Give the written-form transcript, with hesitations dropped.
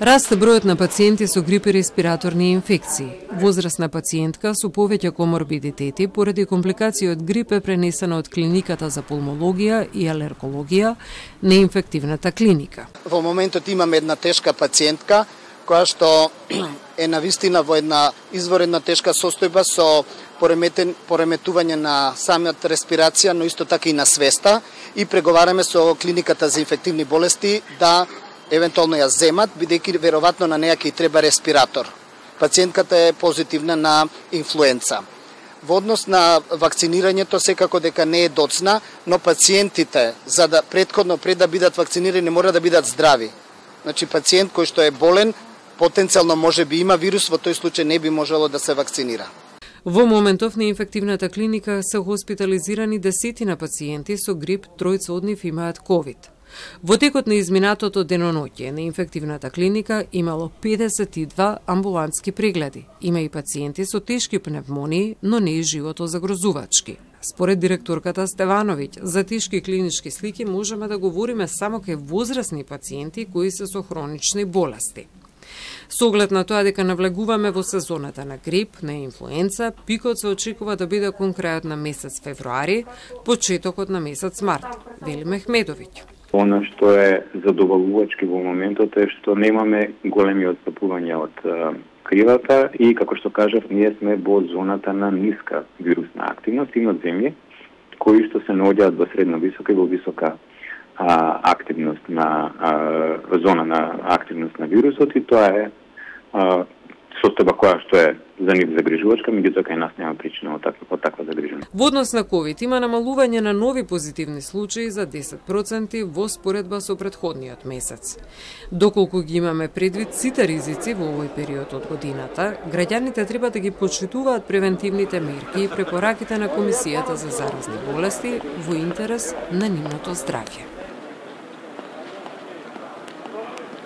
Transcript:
Расте бројот на пациенти со грип и респираторни инфекции. Возрастна пациентка со повеќе коморбидитети поради компликации од грип е пренесена од клиниката за пулмологија и алергологија на инфективната клиника. Во моментот имаме една тешка пациентка која што е навистина во една изворена тешка состојба со пореметување на самиот респирација, но исто така и на свеста, и преговараме со клиниката за инфективни болести да евентуално ја земат, бидејќи веројатно на неја ќе треба респиратор. Пациентката е позитивна на инфлуенца. Во однос на вакцинирањето секако дека не е доцна, но пациентите за да пред да бидат вакцинирани мора да бидат здрави. Значи пациент кој што е болен потенцијално може би има вирус, во тој случај не би можело да се вакцинира. Во моментов на инфективната клиника се хоспитализирани десетина пациенти со грип, тројца од нив имаат ковид. Во текот на изминатото деноноќе на инфективната клиника имало 52 амбулантски прегледи. Има и пациенти со тешки пневмонии, но не и животозагрозувачки. Според директорката Стевановиќ, за тешки клинички слики можеме да говориме само кај возрастни пациенти кои се со хронични болести. Со оглед на тоа дека навлегуваме во сезоната на грип, на инфлуенца, пикот се очекува да биде кон крајот на месец февруари, почетокот на месец март, вели Мехмедовиќ. Она што е задоволувачки во моментот е што немаме големи отстапувања од кривата и, како што кажав, ние сме во зоната на ниска вирусна активност. Имат земји кои што се наоѓаат во средно висока и во висока активност на зона на активност на вирусот, и тоа е состојба која што е за нив загрижувачка, меѓутоа кај нас нема причина од таква загриженост. Во однос на ковид има намалување на нови позитивни случаи за 10% во споредба со претходниот месец. Доколку ги имаме предвид сите ризици во овој период од годината, граѓаните треба да ги почитуваат превентивните мерки и препораките на Комисијата за заразни болести во интерес на нивното здравје.